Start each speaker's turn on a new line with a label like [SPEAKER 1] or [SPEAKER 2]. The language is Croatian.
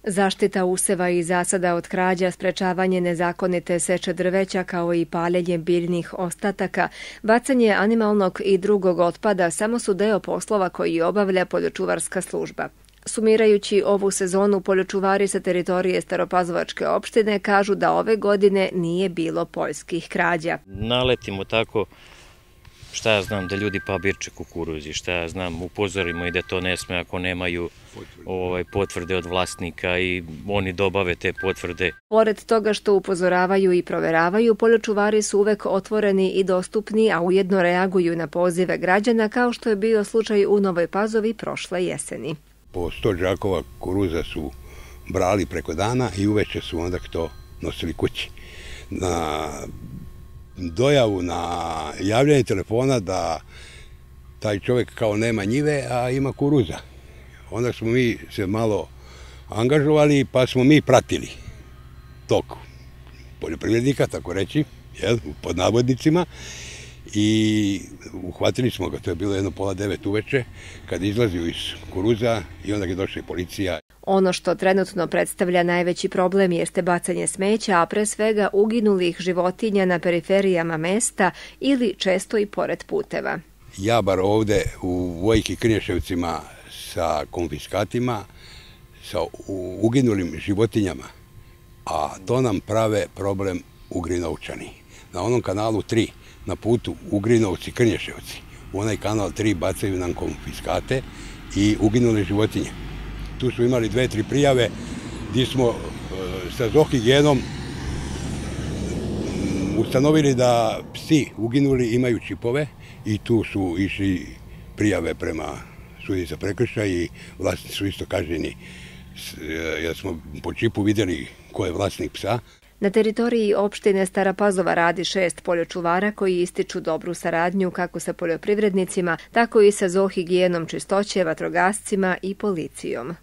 [SPEAKER 1] Zaštita useva i zasada od krađa, sprečavanje nezakonite seče drveća kao i paljenje biljnih ostataka, bacanje animalnog i drugog otpada samo su deo poslova koji obavlja poljočuvarska služba. Sumirajući ovu sezonu, poljočuvari sa teritorije Staropazovačke opštine kažu da ove godine nije bilo poljskih krađa.
[SPEAKER 2] Naletimo tako, šta ja znam, da ljudi pabirče kukuruzi, šta ja znam, upozorimo i da to ne sme ako nemaju potvrde od vlasnika i oni dobave te potvrde.
[SPEAKER 1] Pored toga što upozoravaju i proveravaju, poljočuvari su uvek otvoreni i dostupni, a ujedno reaguju na pozive građana kao što je bio slučaj u Novoj Pazovi prošle jeseni.
[SPEAKER 3] Po 100 džakova kukuruza su brali preko dana i uveče su onda to nosili kući. Na dojavu, na javljanje telefona da taj čovjek kao nema njive, a ima kukuruza. Onda smo mi se malo angažovali pa smo mi pratili tok poljoprivrednika, tako reći, pod navodnicima, i uhvatili smo ga, to je bilo 8:30 uveče, kad izlazio iz kukuruza i onda je došla i policija.
[SPEAKER 1] Ono što trenutno predstavlja najveći problem jeste bacanje smeća, a pre svega uginulih životinja na periferijama mesta ili često i pored puteva.
[SPEAKER 3] Ja bar ovde u Vojki Krnješevcima sa konfiskatima, sa uginulim životinjama, a to nam prave problem Ugrinovčani. Na onom kanalu 3, na putu Ugrinovci-Krnješevci, u onaj kanal 3 bacaju nam konfiskate i uginule životinje. Tu su imali 2-3 prijave gdje smo sa zoohigijenom ustanovili da psi uginuli imaju čipove i tu su išli prijave prema sudi za prekršaj i vlasnici su isto kažnjeni jer smo po čipu vidjeli ko je vlasnik psa.
[SPEAKER 1] Na teritoriji opštine Stara Pazova radi 6 poljočuvara koji ističu dobru saradnju kako sa poljoprivrednicima, tako i sa zoohigijenom čistoće, vatrogascima i policijom.